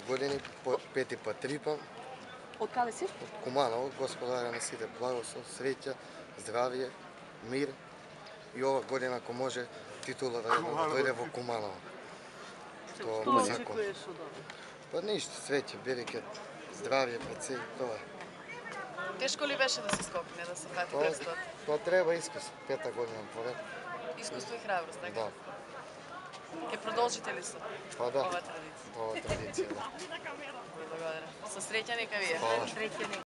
Години, пети пат трипам. Од каде си? Од Куманово, господаря на сите благослов, среќа, здравје, мир и ова година, ако може, титула да дојде во Куманово. Што очекуваш од ова? Па ништо, среќа, берекет, здравје пред се, тоа е. Тешко ли беше да се скокне, да се фати крстот? Тоа треба искуство, пета година поред. Искуство и храброст, така? Да. Ке продолжите ли со Па да. ова традиција? Ова традиција, да. Благодарам. Со среќа нека вие. Фала. Среќен